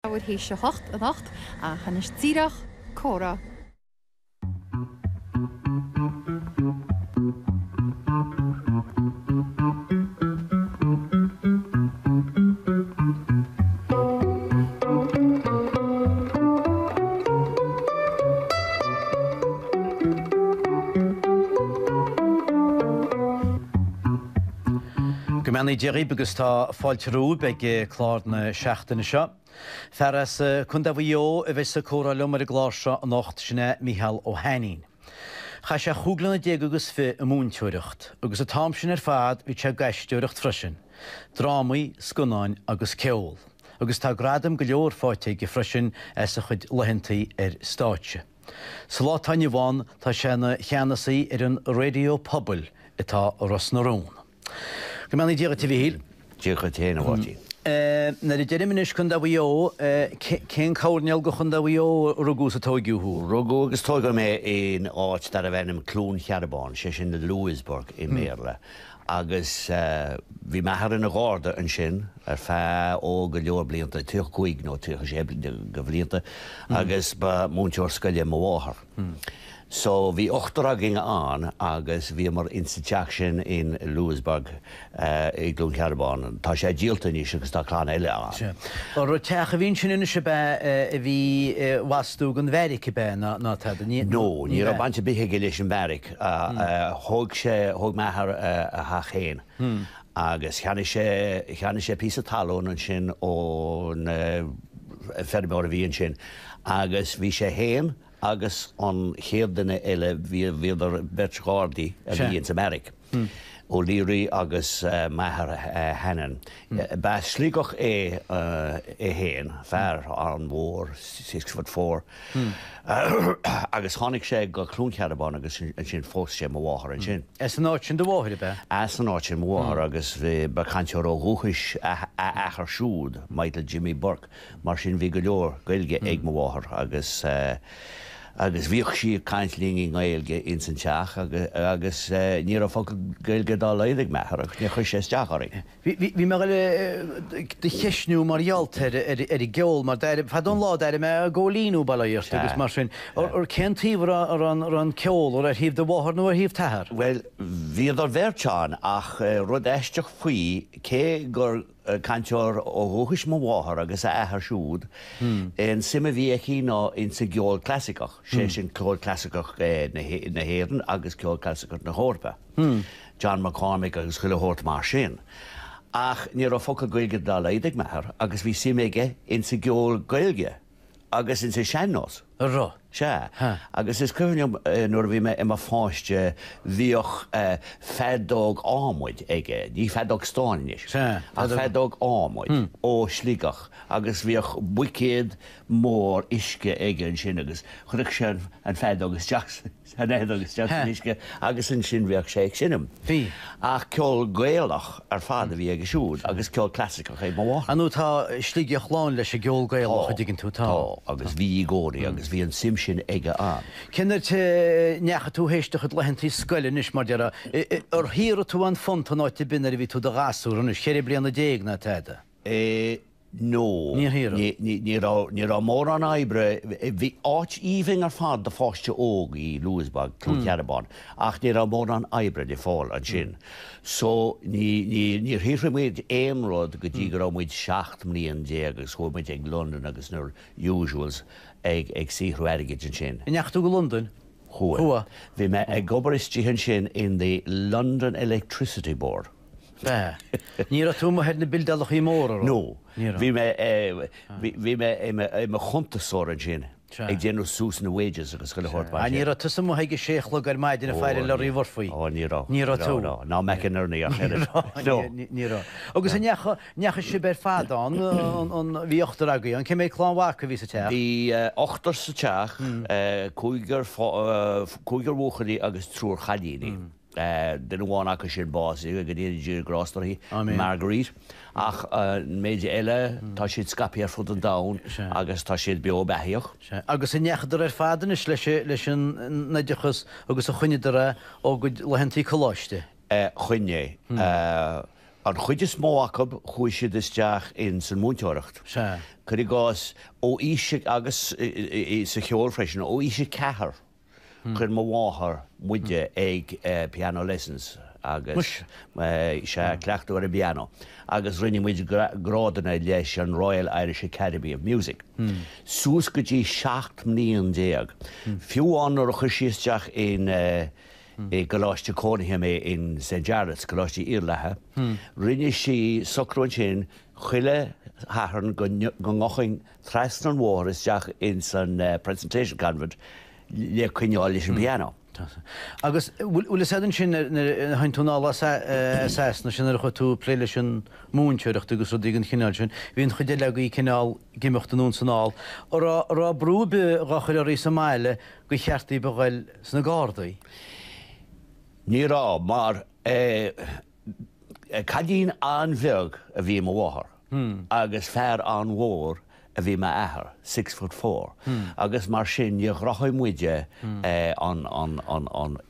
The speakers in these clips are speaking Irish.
Leathuair théis a hocht anocht, ach anois díreach, comhrá. Go mbeannaí Dia dhaoibh agus tá fáilte romhaibh ag clár na seachtaine seo. Fear as Contae Mhaigh Eo a bheas ag comhrá liom ar an gclár seo anocht, sin é Micheál Ó hAinnín. Chaith sé chúig bliana déag agus fi ag múinteoireacht, agus an t-am sin ar fad bhí sé ag aisteoireacht freisin, drámaí, scannáin agus ceol. Agus tá gradaim go leor faighte aige freisin as a chuid laethantaí ar stáitse. Sa lá atá inniu ann tá sé ina cheannasaí ar an Raidió Pobail atá i Ros na Rún. Go mbeannaí Dia dhuit a Mhichíl. Dia dhuit féin a Mháirtín. Nuair a deirim anois Contae Mhaigh Eo, cén coirnéal de Chontae Mhaigh Eo a rugadh is a tóigeadh thú? Rugadh agus tóigeadh mé in áit darbh ainm Cluain Chearbán, sé sin Louisburgh i mBéarla, agus bhí m'athair ina gharda ansin ar feadh, ó, go leor blianta, 35 nó 36 de bhlianta, agus ba múinteoir scoile mo mháthair. So bhí ochtar againn ann agus bhíomar ins an teach sin in Louisburgh i gCluain Cearbán. Tá sé díolta anois agus tá clann eile ann. Sea. Ar teach a bhí ansin anois ab ea a bhí i bhfastú don bheairic ab ea ná tada? Ní No, ní raibh baint ar bith aige leis an bheairic. Thóg sé, thóg m'athair a theach féin agus cheannaigh sé, cheannaigh sé píosa talún ansin ón feirmeoir a bhí ansin agus bhí sé féin agus an chéad duine eile, bhíodar beirt ghardaí a bhí ins an mbeairic, O'Leary agus m'athair Hannon. B'as Sligeach é é féin, fear an-mhór, 6 foot 4, agus tháinig sé go Cluain Cearbán agus ansin phós sé mo mháthair ansin. As an áit sin do mháthair, ab ea? As an áit sin mo mháthair agus ba chainteoir ó dhúchais a athair siúd, Michael Jimmy Burke. Mar sin bhí go leor Gaeilge ag mo mháthair agus agus bhíodh sí ag caint linn i nGaeilge ins an teach agus ní raibh focal Gaeilge dá laghad ag m'athair agus níor chuir sé isteach orainn. Bhí mé ag dul do cheistniú mar gheall ar ar an gceol mar d'airigh, fadó an lá d'airigh mé Góilín ó Baile Átha agus mar sin. Ar cén taobh a raibh an ceol, ar thaobh do mháthar nó ar thaobh t'athar? Bhuel, bhíodar beirt ann ach rud aisteach faoi, cé gur Cainteoir ó dhúchais mo mháthair agus a athair siúd. An suim a bhí aici ná insa gceol clasaiceach, sé sin ceol clasaiceach na hÉireann agus ceol clasaiceach na hEorpa, John McCormack agus chuile shórt mar sin. Ach ní raibh focal Gaeilge dá laghad ag m'athair agus bhí suim aige insa gceol Gaeilge. Agus insa sean-nós. A raibh? Sea. Agus is cuimhin liom nuair a bhí mé i mo pháiste bhíodh feadóg adhmaid aige, ní feadóg stáin anois, ach feadóg adhmaid ó Shligeach agus bhíodh buicéad mór uisce aige ansin agus chuireadh sé an feadóg isteach An fheadóg isteach san uisce agus ansin bheadh sé ag seinm. Bhí. Ach ceol Gaelach ar fad a bhí aige siúd agus ceol clasaiceach ag mo mháthair. Ar ndóigh tá Sligeach lán leis an gceol Gaelach, an dtuigeann tú, tá. Tá, agus bhí i gcónaí agus bhí an suim sin aige ann. Cén áit a ndeachaigh tú théis do chuid laethantaí scoile anois mar déarfá, ar shaothraigh tú aon phunt in áit ar bith nuair a bhí tú i do ghasúr anois, cheithre bliana déag ná tada? No. Níor shaothraigh. Ní raibh, ní raibh mórán oibre, bhí áit aoibhinn ar fad do pháiste óg í Louisburgh, Cluain Cearbán, ach ní raibh mórán oibre le fáil ansin. So, ní, ní, níor shaothraigh muid aon rud go dtí go raibh muid 17 mbliain agus chuaigh muid ag Londain agus na usuals ag, ag saothrú airgid ansin. An ndeachaigh tú go Londain? Chuaigh. Chuaigh. Bhí mé ag obair istigh ansin in the London Electricity Board. Bea. Ní raibh tú amuigh ar na bildeálachaí móra, raibh? No. Ní raibh. Bhí mé, bhí mé i mo chuntasóir ansin, ag déanamh suas na wages agus chuile shórt mar sin. Ní raibh tusa amuigh ag a sé a chlog ar maidin ag faire le Larry Murphy? Ó, ní raibh. Ní raibh tú? No, ná McInerney ach oiread. No. Ní raibh. Agus an ndeachaigh, ndeachaigh sibh ar fad ann, an, bhí ochtar agaibh ann, cé mhéad clann mhac a bhí sa teach? Bhí ochtar sa teach, cúigear, cúigear buachaillí agus triúr chailíní. Duine amháin acu sin básaithe, go ndéana Dia grást uirthi, Marguerite. Ach an méid eile, tá siad scaipthe ar fud an domhain agus tá siad beo beathaíoch. Sea. Agus an ndeachadar ar fad anois leis an oideachas agus a choinneadar é ó gcuid laethantaí coláiste? Choinnigh. An chuid is mó acu chuaigh siad isteach in san múinteoireacht. Sea. Cuir i gcás, ó aois agus sa cheol freisin, ó aois a ceathair chuir mo mháthair muide ag piano lessons agus sea, cleachtadh ar an bpianó agus rinne muid grádanna leis an Royal Irish Academy of Music suas go dtí 17 mbliain. Fiú amháin nuair a chuir sí isteach in i gcoláiste cónaithe mé in St Jarlath's, Coláiste Iarlatha. Rinne sí socrú ansin chuile Shatharn go ngabhfainn trasna an bhóthair isteach ins an Presentation Convent le coinneáil leis an bpianó. Agus bhfuil fhios a'd ansin nuair a tháinig tú anall as Sasana, sin nuair a chuaigh tú ag plé leis an múinteoireacht agus rudaí den chineál sin, bhí an chuid eile agaibh cineál ag imeacht anonn 's anall. An raibh brú ar bith dhá chur oraibh sa mbaile gur cheart daoibh a ghoil sna Gardaí? Ní raibh, mar cailín an-bheag a bhí i mo mháthair agus fear an-mhór a bhí i m'athair, six foot four, agus mar sin níor ghnóthaigh muide an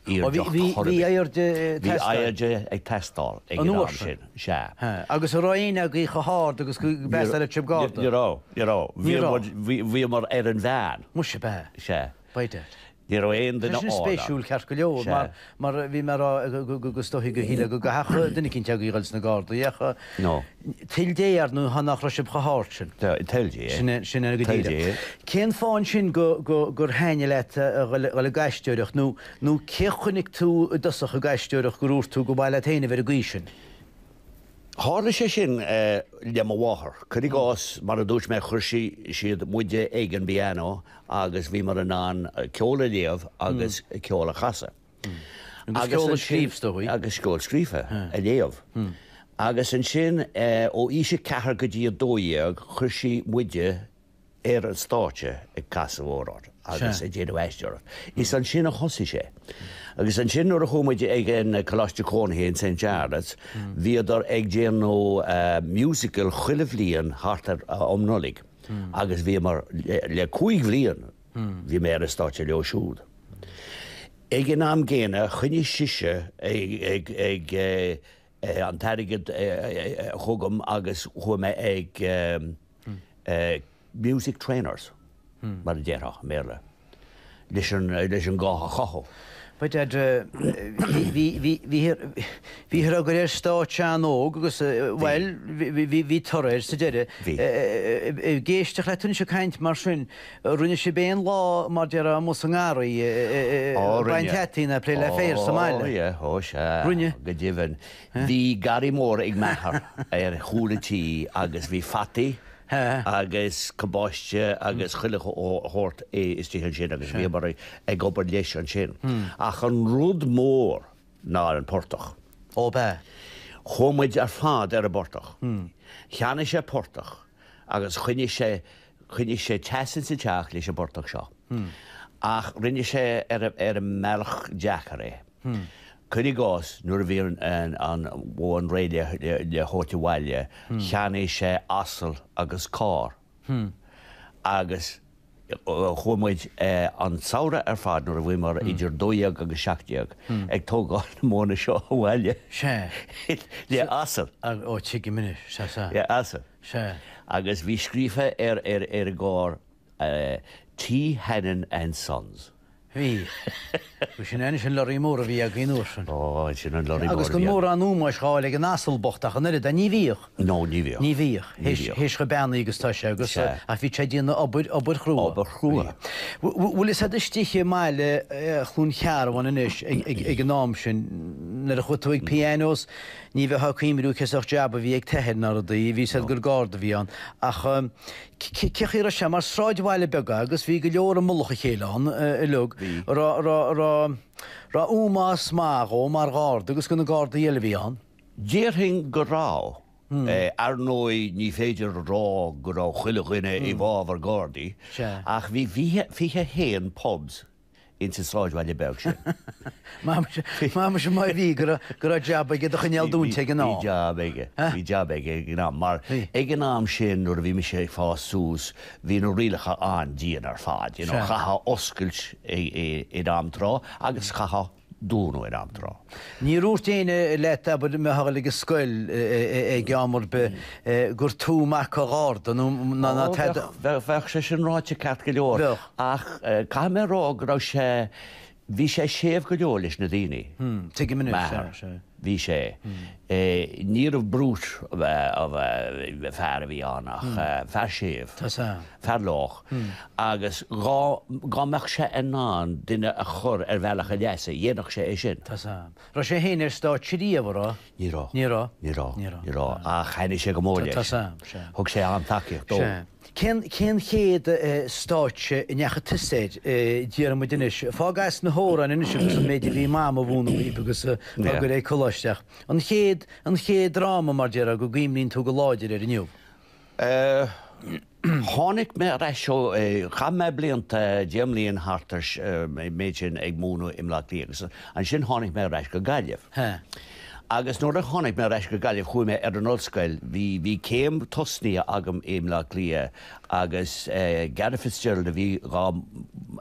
airdeacht chor ar bith. Bhí airde ag teastáil. Bhí airde ag teastáil ag an am sin, sea. Agus an raibh éinne agaibh chomh hard agus go bpasálfadh sibh Garda? Ní raibh, ní raibh. Bhíomar ar an mheán. Muise, ab ea? Sea. By dad. Ní raibh aon duine Tá sin spéisiúil ceart go leor mar mar bhí mé ag rá go go is dóichí go shílfeá go gcaithfeadh duine eicínt agaibh a dhul sna Gardaí ach No. toil Dé ar ndóigh nach raibh sibh chomh hard sin. Toil Dé. Sin é sin é go Toil díreach. Dé. Cén fáth ansin go go gur thaitnigh leat a dhul a dhul ag aisteoireacht nó nó cé chonaic tú i dtosach ag aisteoireacht gur dhúirt tú go mba mhaith leat féin a bheith ar an gcaoi sin? Tharla sé sin le mo mháthair. Cuir i gcás, mar a dúirt mé, chuir sí, siad muide ag an bpianó agus bhíomar in ann ceol a léamh agus ceol a chasadh. Agus ceol a scríobh, is dóigh. Agus ceol scríofa a léamh. Agus ansin, ó aois a ceathair go dtí a 12, chuir sí muide ar an stáitse ag casadh amhrán agus ag déanamh aisteoireacht. Is ansin a thosaigh sé. Agus ansin nuair a chuaigh muid ag an Coláiste Cónaithe in St Jarlath's, bhíodar ag déanamh musical chuile bhliain thart ar um Nollaig agus bhíomar le cúig bhliain bhí mé ar an stáitse leo siúd. Ag an am gcéanna choinnigh sise ag ag an t-airgead chugam agus chuaigh mé ag music trainers, mar a déarfá i mBéarla, leis an leis an guth a chothú. By dad, bhíthear á gcur ar stáitse an-óg agus, bhuel, bhí toradh air sa deireadh. Bhí. Ag éisteacht leat anois ag caint mar sin, rinne sibh aon lá, mar déarfá, amuigh sa ngarraí, ag baint fhataí nó ag plé le féar sa mbaile? Ó, yeah, ó sea. Rinne? Go deimhin. Bhí garraí mór ag m'athair ar chúl an tí agus bhí fataí agus cabáiste agus chuile shórt istigh ansin agus bhíomar ag obair leis ansin. Ach an rud mór ná ar an portach. Ó b'ea. Chuaigh muid ar fad ar an bportach. Cheannaigh sé portach agus choinnigh sé, choinnigh sé teas insa teach leis an bportach seo. Ach rinne sé ar an mbealach deacair é. Cuir i gcás, nuair a bhí an mhóin réidh le thabhairt abhaile, cheannaigh sé asal agus carr agus chuaigh muid an samhradh ar fad nuair a bhíomar idir 12 agus 17 ag tógáil na móna seo abhaile le asal. Ó, tuigim anois, sea, sea. Le asal. Sea. Agus bhí scríofa ar an gcarr T. Hannon and Sons. Bhí. Bhí sin anois an lorry mór a bhí againn an uair sin. Ó, sin an lorry mór a bhí againn. Agus gan mórán ómóis dhá fháil ag an asal bocht ach an oiread, ní bhíodh. No, ní bhíodh. Ní bhíodh. Théis chomh beannaithe agus tá sé agus, ach bhí sé ag déanamh obair, obair chrua. Obair chrua. Bhfuil fhios a'd istigh i mbaile Chluain Chearbháin anois ag an am sin, nuair a chuaigh tú ag pianos, ní bheifeá ag cuimhniú cén sórt jab a bhí ag t'athair ná rudaí, bhí fhios a'd gur garda a bhí ann ach, Cé chaoi a raibh sé mar sráidbhaile beag agus bhí go leor i mullach a chéile ann uilig, raibh ómós maith dhó mar gharda agus do na gardaí eile a bhí ann. Déarfainn go raibh. Ar ndóigh ní féidir a rá go raibh chuile dhuine i bhfabhar gardaí ach bhí 21 pubs ins an sráidbhaile beag sin. Maith má bhí go raibh jab aige do choinneáil dúnta ag an am. Bhí jab aige, bhí jab aige ag an am, mar ag an am sin nuair a bhí mise ag fás suas bhí na rialacha an-dian ar fad, you know, chaithfeá oscailt in am tráth agus chaithfeá. dúnadh in am tráth. Níor dhúirt éinne leat, abair, a bheifeá ag dul ag an scoil ag am ar bith gur tú mac an gharda nó ná tada? Bheadh sé sin ráite ceart go leor. Bheadh. Ach caithfidh mé a rá go raibh sé, bhí sé séimh go leor leis na daoine. Tuigim anois, sea, sea. Bhí sé. Níorbh brute of a fear a bhí ann ach fear séimh. Tá 's a'm. Fear lách. Agus dhá dhá mbeadh sé in ann duine a chur ar bhealach a leasa, dhéanfadh sé é sin. Tá 's a'm. Raibh sé féin ar stáitse riamh, an raibh? Ní raibh. Ní raibh? Ní raibh. Ní raibh. Ní raibh. Ach thaitnigh sé go mór leis. Tá 's a'm, sea. Thug sé an-tacaíocht dó. Sea. Cén, cén chéad stáitse a ndeachaigh tusa air, déarfaidh muid anois? Fág as na hamhráin anois agus an méid a bhí Mam a mhúineadh daoibh agus á gcur ag coláiste ach an chéad, an chéad dráma mar déarfá go gcuimhníonn tú go láidir air inniu? Tháinig mé ar ais ó, chaith mé blianta, 10 mbliain thart ar an méid sin ag múineadh i mBleá Cliath agus ansin tháinig mé ar ais go Gaillimh. Agus nuair a tháinig mé ar ais go Gaillimh chuaigh mé ar an ollscoil, bhí, bhí céim tosnaithe agam i mBleá Cliath agus Garret Fitzgerald a bhí dhá,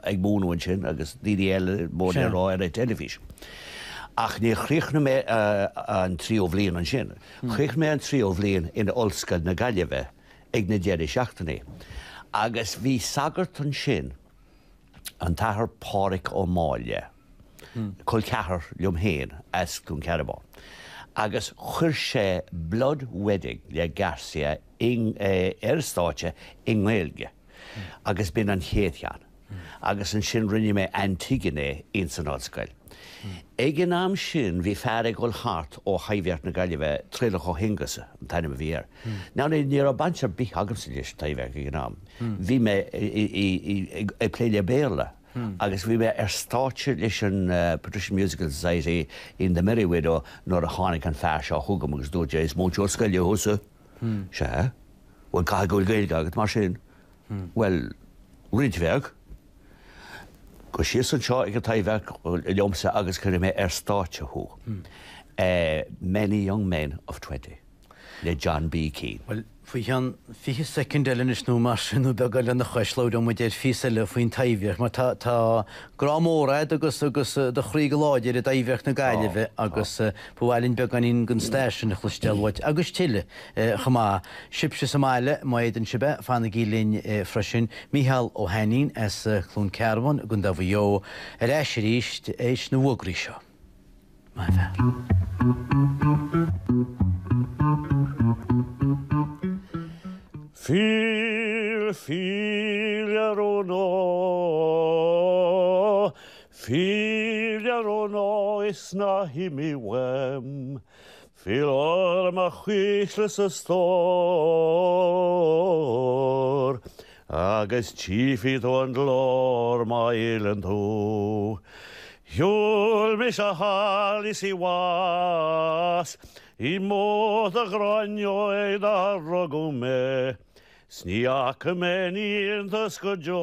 ag múineadh ansin agus daoine eile mór le rá ar an teilifís. Ach níor chríochnaigh mé an tríú bhliain ansin. Chríochnaigh mé an tríú bhliain in Ollscoil na Gaillimhe ag na deireadh seachtainí agus bhí sagart ansin, an tAthair Pádhraic Ó Máille, col ceathar liom féin as Cluain Cearbán, agus chuir sé Blood Wedding le Garcia ar stáitse i nGaeilge agus b'in an chéad cheann. Agus ansin rinne mé Antigone ins an ollscoil. Ag an am sin bhí fear ag dul thart ó Thaibhdhearc na Gaillimhe, Traolach Ó hAonghusa an t-ainm a bhí air. Now ní raibh baint ar bith agamsa leis an Taibhdhearc ag an am. Bhí mé ag plé le Béarla agus bhí mé ar stáitse leis an Patrician Musical Society in The Merry Widow nuair a tháinig an fear seo chugam agus dúirt sé, is múinteoir scoile thusa? Sea. Bhuel caithfidh go bhfuil Gaeilge agat mar sin. Bhuel, roinnt bheag. Gabh síos anseo ag an Taibhdhearc liomsa agus cuirfidh mé ar stáitse thú. Many Young Men of 20 le John B. Keane. Bhuel, faoi cheann 20 soicind eile anois nó mar sin, nó beagán lena chois, labhróidh muid ar phíosa eile faoin Taibhdhearc, mar tá, tá grá mór a'd agus, agus do chroí go láidir i dTaibhdhearc na Gaillimhe agus ba mhaith linn beagáinín den stair sin a chloisteáil uait agus tuilleadh chomh maith. Sibhse sa mbaile, má fhéadann sibh é, fanaigí linn freisin. Mícheál Ó hAinnín as Cluain Cearbán i gContae Mhaigh Eo ar ais arís théis na bhfógraí seo. Maith an fear. Fill, fill ar an Fill ar an is ná himigh uaim. Fill orm a chuisle 's a stór Agus tchífidh tú an glór má fhilleann tú. Shiúil mise thall is i bhfas I mBóthar Ghráinne ó dar rugadh mé 'S ní fhaca mé aon iontas go deo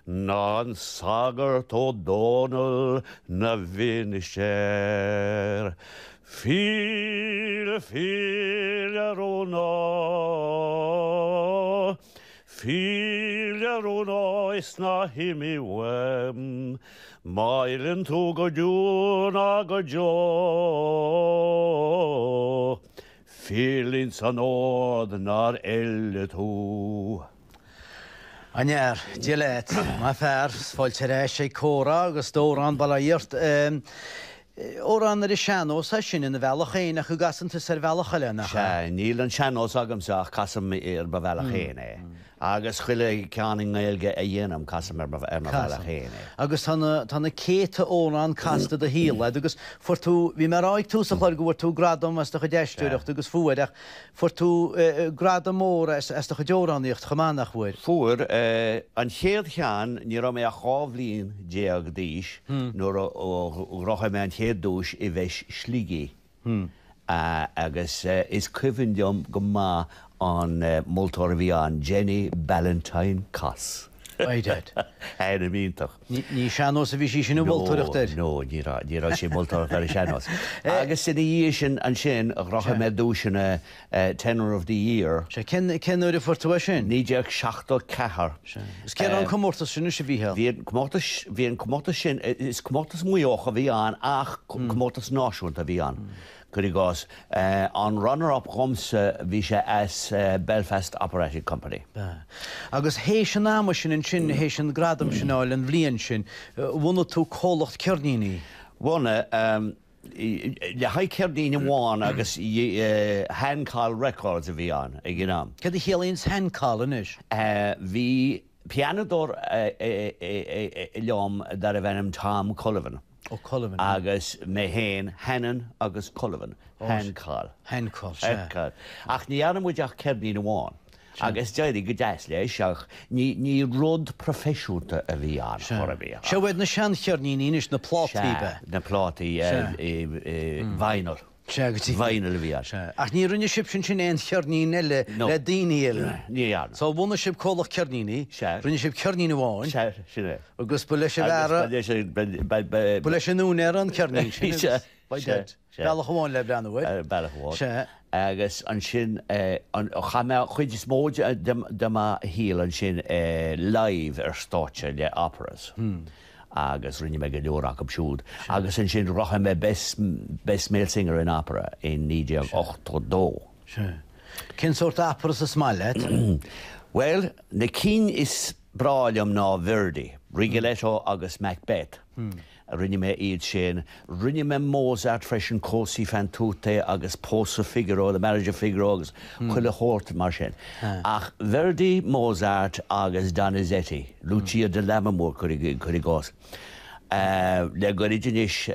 Ná an sagart Ó Dónaill 'na mhinistéir. Fill, fill ar an áth, Fill ar an áth is ná himigh uaim, Má fhilleann tú go deo ná go deo. Fill ins an ord 'nar oileadh tú. An fhear, Dia leat. Maith fear, 's fáilte ar ais ag Comhrá agus d'amhrán bail ó Dhia ort. Amhrán ar an sean-nós é sin ina bhealach féin ach go gcasann tusa ar bhealach eile, nach ea? Sea, níl an sean-nós agamsa ach casaim ar mo bhealach féin é. Agus chuile cheann i nGaeilge a dhéanaim, casaim ar mo bhealach féin é. Agus tá na, tá na céadta amhrán casta i do shaol a'd agus fuair tú, bhí mé a rá ag tús an chláir go bhfuair tú gradam as do chuid aisteoireachta agus fuair ach fuair tú gradam mór as, as do chuid amhránaíocht chomh maith, nach bhfuair? Fuair. An chéad cheann, ní raibh mé ach 12 bhliain d'aois nuair a ghnóthaigh mé an chéad duais i bhFeis Shligigh. Agus is cuimhin liom go maith an moltóir a bhí ann, Jenny Ballantyne Coss. By dad. Ainm iontach. Ní sean-nós a bhí sí sin ag moltóireacht air. No, ní raibh, ní raibh sí ag moltóireacht ar an sean-nós. Agus ina dhiaidh sin, ansin, ghnóthaigh mé duaiseanna Tenor of the Year. Sea, cén, cén uair a fuair tú é sin? 1974. Sea. Is cé raibh an comórtas sin anois, a Mhícheáil? Bhí an comórtas, bhí an comórtas sin, is comórtas Maigh Eoch a bhí ann ach comórtas náisiúnta a bhí ann. Cuir i gcás, an runner up dhomsa, bhí sé as Belfast Operatic Company. B'ea. Agus théis an ama sin ansin, théis an gradam sin a fháil an bhliain sin, bhunaigh tú comhlacht ceirníní. Bhunaigh. Le haghaidh ceirnín amháin agus Hancol Records a bhí ann ag an am. Céard a chiallaíonns Hancol anois? Bhí pianadóir liom darbh ainm Tom Cullivan. Ó Cullivan. Agus mé féin, Hannon agus Cullivan. Hancol. Hancol, sea. Hancol. Ach ní dhearna muid ach ceirnín amháin. Agus d'éirigh go deas leis ach ní, ní rud proifisiúnta a bhí ann chor ar bith. Sea, iad na seancheirníní anois, na plátaí, ab ea? Sea, na plátaí, vinyl. Sea, go dtí. Vinyl a bhí ann. Sea. Ach ní rinne sibhse ansin aon cheirnín eile le daoine eile? Ní dhearna. So bhunaigh sibh comhlacht ceirníní. Sea. Rinne sibh ceirnín amháin. Sea, sin é. Agus ba leis an bhfear a. Agus ba leis an, ba, ba. Ba leis an úinéir an ceirnín sin. Sea. By dad. Bealach amháin le breathnú air. Bealach amháin. Sea. Agus ansin, chaith mé an chuid is mó de mo shaol ansin live ar stáitse le operas. Agus rinne mé go leor acu siúd. Agus ansin ghnóthaigh mé Best, Best Male Singer in Opera in 1982. Sea. Cén sórt operas is maith leat? Bhuel, na cinn is breá liom ná Verdi, Rigoletto agus Macbeth. Rinne mé iad sin. Rinne mé Mozart freisin, Così fan tutte agus Pósadh Figaro, The Marriage of Figaro agus chuile shórt mar sin. Ach Verdi, Mozart agus Donizetti, Lucia di Lammermoor cuir i gcás. Le goirid anois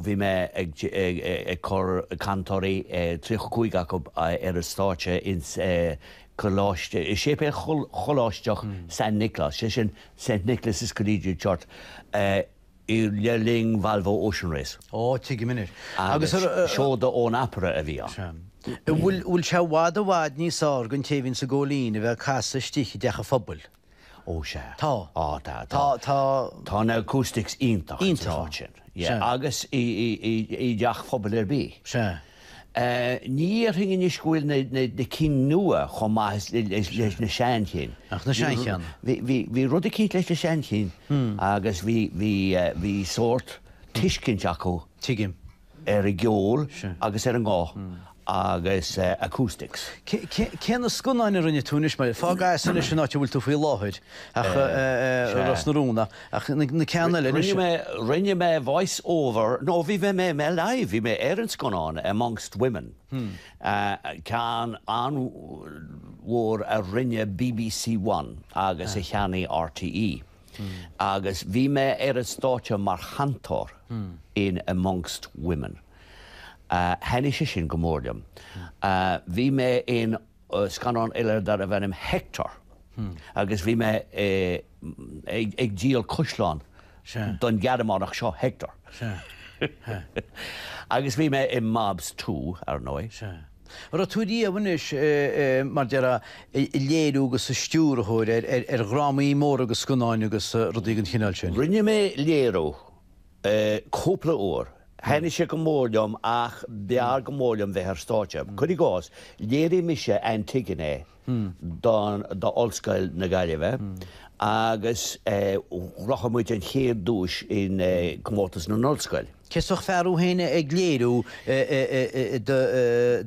bhí mé ag cur cantóirí, 35 acu, ar an stáitse ins Coláiste, i Séipéal Choláisteach San Nioclás, sé sin St Nicholas' Collegiate Church, le linn Volvo Ocean Race. Ó, tuigim anois. Agus seoda ón opera a bhí ann. An bhfuil sé i bhfad i bhfad níos fhearr don té a bhíonns ag gabháil fhoinn a bheith ag casadh istigh i dteach an phobail? Ó, sea. Tá. Á, tá. Tá, tá. Tá na acoustics iontach ins an áit sin. Sea. Agus i dteach phobail ar bith. Sea. Ní dhéarfainn anois go bhfuil na cinn nua chomh maith leis na seanchinn. Ach na seancheanna. Bhí rud eicínt leis na seanchinn agus bhí sórt tuiscint acu Tuigim. ar an gceol agus ar an nguth agus acoustics. Cé na scannáin a rinne tú anois? Fág as anois an áit a bhfuil tú faoi láthair ach Ros na Rún ach na ceanna eile anois. Rinne mé, rinne mé voice over, no bhí mé mé live, bhí mé ar an scannán Amongst Women, ceann an-mhór a rinne BBC One agus a cheannaigh RTÉ. Agus bhí mé ar an stáitse mar chantóir in Amongst Women. Thaitnigh sé sin go mór liom. Bhí mé in scannán eile darbh ainm Hector agus bhí mé ag díol caisleán don Ghearmánach seo, Hector. Agus bhí mé i Mobs 2, ar ndóigh. An raibh tú riamh anois, mar déarfá, ag léiriú agus ag stiúrthóir ar dhrámaí móra agus scannáin agus rudaí den chineál sin? Rinne mé léiriú cúpla uair. Thaitnigh sé go mór liom ach b'fhearr go mór liom bheith ar stáitse. Cuir i gcás, léirigh mise Antigone don d'Ollscoil na Gaillimhe agus ghnóthaigh muid an chéad duais in Comórtas na nOllscoil. Cé is fearr thú féin ag léiriú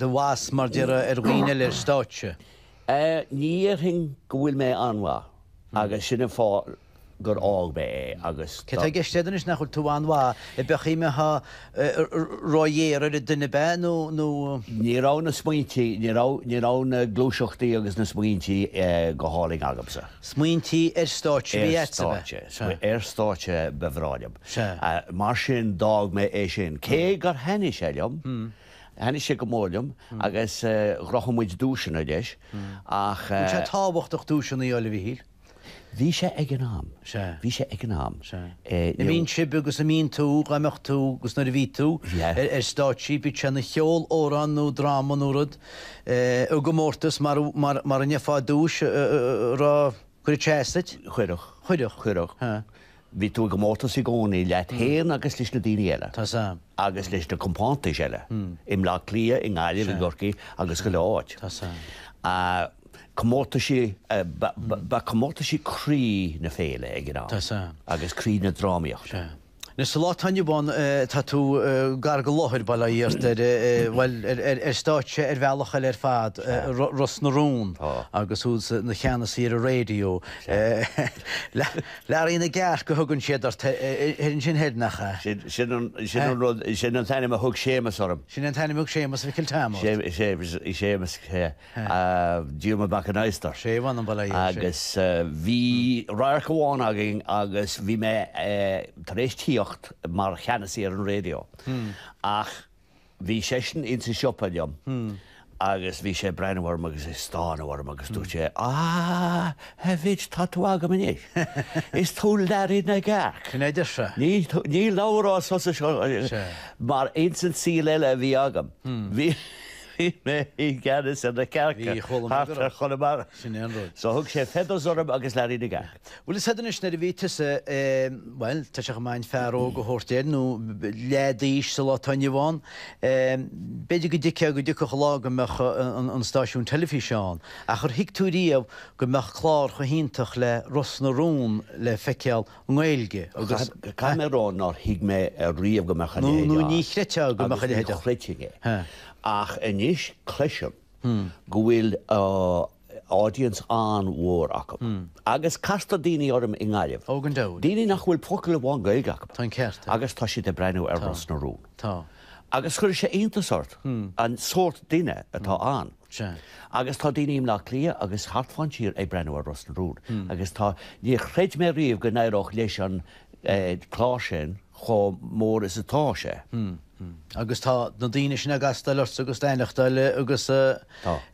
do bhas mar déarfá ar dhaoine eile ar stáitse? Ní dhéarfainn go bhfuil mé an-mhaith agus sin an fáth gur fhág mé é agus. Cé tá i gceist agat anois nach bhfuil tú an-mhaith i beachaí mbeifeá ró-ghéar ar an duine ab ea nó nó. Ní raibh na smaointí, ní raibh, ní raibh na gluaiseachtaí agus na smaointí go hálainn agamsa. Smaointí ar stáitse a bhí agat ab ea? Ar stáitse, ar stáitse ba bhreá liom. Sea. Mar sin d'fhág mé é sin. Cé gur thaitnigh sé liom, thaitnigh sé go mór liom agus ghnóthaigh muid duaiseanna leis ach. Bhfuil sé tábhachtach duaiseanna a fháil a Mhichíl? Bhí sé ag an am. Sea. Bhí sé ag an am. Sea. A mbíonn sibh agus a mbíonn tú, dá mbeadh tú agus nuair a bhí tú, ar stáitsí, bíodh sé ina cheol-amhrán nó dráma nó rud, i gcomórtas mar mar a ngeofá duais a raibh. Cuireadh sé as duit? Chuirfeadh. Chuirfeadh. Chuirfeadh. Bhí tú i gcomórtas i gcónaí leat féin agus leis na daoine eile. Tá 's a'm. Agus leis na compántais eile. I mBleá Cliath, i nGaillimh, i gCorcaigh agus chuile áit. Tá 's a'm. Comórtaisí, ba comórtaisí croí na féile ag an am. Tá 's a'm. Agus croí na drámaíochta. Sea. Anois sa lá atá inniu ann tá tú gar go láthair, bail ó Dhia ort, ar, bhuel, ar stáitse ar bhealach eile ar fad, Ros na Rún agus thú ina cheannasaí ar an raidió. Learaí na gCearc a thugann siad ort ansin thoir, nach ea? Sin an rud, sin an t-ainm a thug Séamus orm. Sin an t-ainm a thug Séamus Mhicil Tom ort. Séamus, sea. Diarmuid Mac an Adhastair. Sé mh'anam bail ó Dhia air. Agus bhí radharc amháin againn agus bhí mé tar éis tíocht mar cheannasaí ar an raidió ach bhí seisean insa siopa liom agus bhí sé ag breathnú orm agus ag stánadh orm agus dúirt sé, Ah, a Mhitch, tá tú agam anois. Is tú Learaí na gCearc. Sin é a deir sé. Ní labhróidh tusa seo mar ins an saol eile a bhí agam. Bhí. Bhí mé i gceannas ar na cearca thart ar Chonamara. Sin é an rud. So thug sé Feathers orm agus Learaí na gCearc. Bhfuil fhios a'd anois nuair a bhí tusa, bhuel, tá sé chomh maith an fear óg a thabhairt air, nó leaid d'aois sa lá atá inniu ann, b'fhéidir go dtuigfeá go dtiocfadh lá go mbeadh an stáisiún teilifíse ann, ach ar thuig tú riamh go mbeadh clár chomh hiontach le Ros na Rún le feiceáil nGaeilge agus. Caithfidh mé a rá nár thuig mé riamh go mbeadh a leithéid ann. Nó ní chreidfeá go mbeadh a leithéid ann. Agus ní chreidfinn é. Ach anois cloisim go bhfuil audience an-mhór acu. Agus castar daoine orm i nGaillimh. Ó gan dabht. Daoine nach bhfuil focal amháin Gaeilge acu. Tá an ceart agat. Agus tá siad ag breathnú ar Ros na Rún. Tá. Agus chuir sé iontas ort an sórt duine atá ann. Sea. Agus tá daoine i mBleá Cliath agus thart fán tír ag breathnú ar Ros na Rún. Agus tá, níor chreid mé riamh go n-éireodh leis an clár sin chomh mór is atá sé. Agus tá na daoine sin ag castáil ortsa agus d'aithneachtáil agus a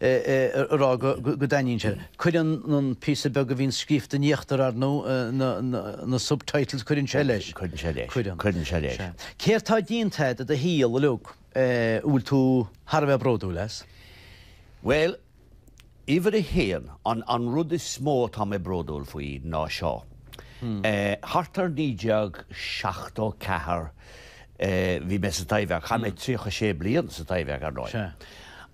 rá go dtaitníonn sé. Cuireann an píosa beag a bhíonn scríofa in íochtar, ar ndóigh, na subtitles, cuireann sé leis. Cuireann sé leis. Cuireann. Cuireann sé leis. Sea. Céard tá déanta agat i do shaol uilig? a bhfuil tú thar a bheith bródúil as? Bhuel, uimhir a haon, an rud is mó atá mé bródúil faoi ná seo. Thart ar 1974 bhí mé sa Taibhdhearc, chaith mé 36 bliain sa Taibhdhearc ar ndóigh,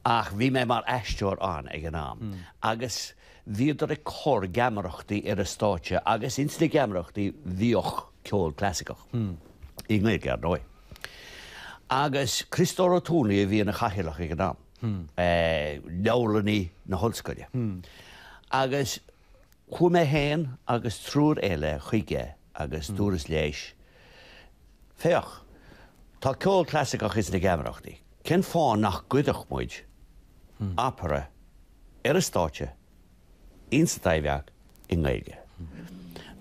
ach bhí mé mar aisteoir ann ag an am agus bhíodar ag cur geamaireachtaí ar an stáitse agus ins na geamaireachtaí bhíodh ceol clasaiceach, i nGaeilge ar ndóigh. Agus Criostóir Ó Tuanaigh a bhí ina chathaoirleach ag an am, leabharlannaí na hollscoile. Agus chuaigh mé féin agus triúr eile chuige agus dúras leis, Féach, tá ceol clasaiceach ins na geamaireachtaí, cén fáth nach gcuirfeadh muid opera ar an stáitse ins an Taibhdhearc i nGaeilge?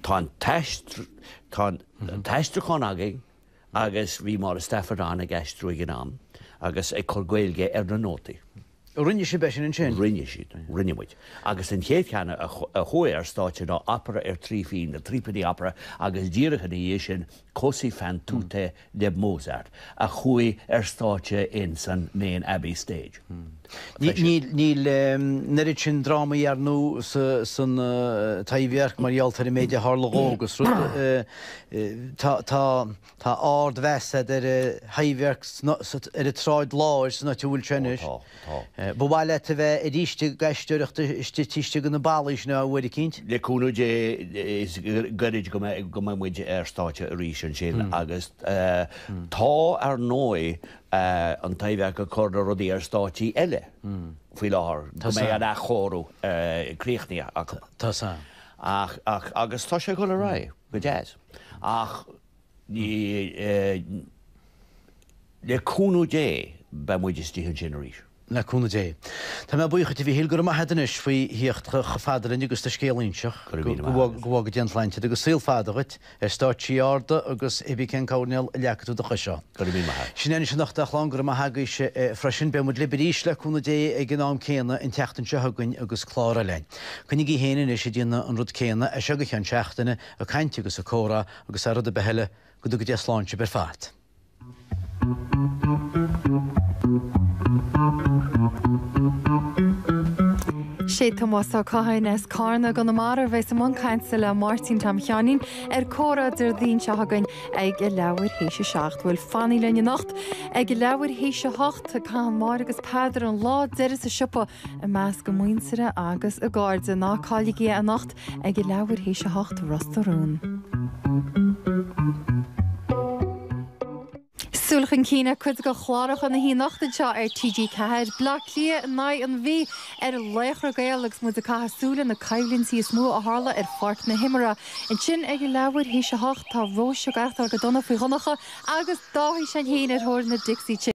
Tá an t-aistriúchán againn, Agus bhí Máire Stafford ann ag aistriú ag an am agus ag cur Gaeilge ar na nótaí. Rinne sibh é sin ansin? Rinne siad. Rinne muid. Agus an chéad cheann a chuaigh ar stáitse ná Opera ar Thrí Phínn, The Threepenny Opera, agus díreach ina dhiaidh sin Così fan tutte le Mozart, a chuaigh ar stáitse ins an Main Abbey Stage. Níl an oiread sin drámaí ar ndóigh san Taibhdhearc mar gheall ar an méid a tharla dhó agus rud. Tá tá ardmheas a'd ar an Taibhdhearc ar an tSráid Láir san áit a bhfuil sé anois. Ó tá, tá. Ba mhaith leat a bheith arís ag aisteoireacht istigh taobh istigh de na ballaí sin uair eicínt? Le cúnamh Dé is gairid go mbeidh go mbeidh muid ar stáitse arís ansin agus tá ar ndóigh an Taibhdhearc ag cur na rudaí ar stáitsí eile faoi láthair go mbeidh an athchóiriú críochnaithe acu. Tá san. Ach ach agus tá sé ag dul ar aghaidh. Go deas. Ach ní, le cúnamh Dé, beidh muid istigh ansin arís. Le cúnamh Dé. Tá mé buíoch duit, a Mhíchíl, go raibh maith agat anois faoi thíocht chomh fada linn agus do scéal a inseacht. Go raibh míle maith agat. Go bhfága Dia an tsláinte duit agus saol fada dhuit ar stáitsí arda agus cibé cén coirnéal a leagfaidh tú do chois ann. Go raibh míle maith agat. Sin é anois anocht a chlann, go raibh maith agaibhse freisin. Beidh muid libh arís le cúnamh Dé ag an am céanna an tseachtain seo chugainn agus clár eile againn. Coinnigí féin anois ag déanamh an rud céanna as seo go ceann seachtaine, ag caint agus ag comhrá agus thar rud ar bith eile, go dtuga Dia slán sibh ar fad. Sé Tomás Ó Catháin as Carna i gConamara a bheas i mbun cainte le Máirtín Tom Sheáinín ar Comhrá Déardaoin seo chugainn ag a leathuair théis 7. Bhuel, fanaigí linn anocht ag a leathuair théis 8, caitheann Máire agus Peadar an lá deiridh sa siopa i measc a muintire agus a gcairde. Ná cailligí é anocht ag a leathuair théis 8, Ros na Rún. Súil chun cinn ar cuid de chláracha na hoíche anocht anseo ar TG4, Bleá Cliath in aghaidh an Mhí ar Laochra Gael agus muid ag caitheamh súil ar na coimhlintí is mó a tharla ar pháirc na himeartha. Ansin ag a leathuair théis 8 tá Róise ag aireachtáil go dona faoi Dhonncha agus Dáithí Sean féin ar thóir na Dixie Chicks.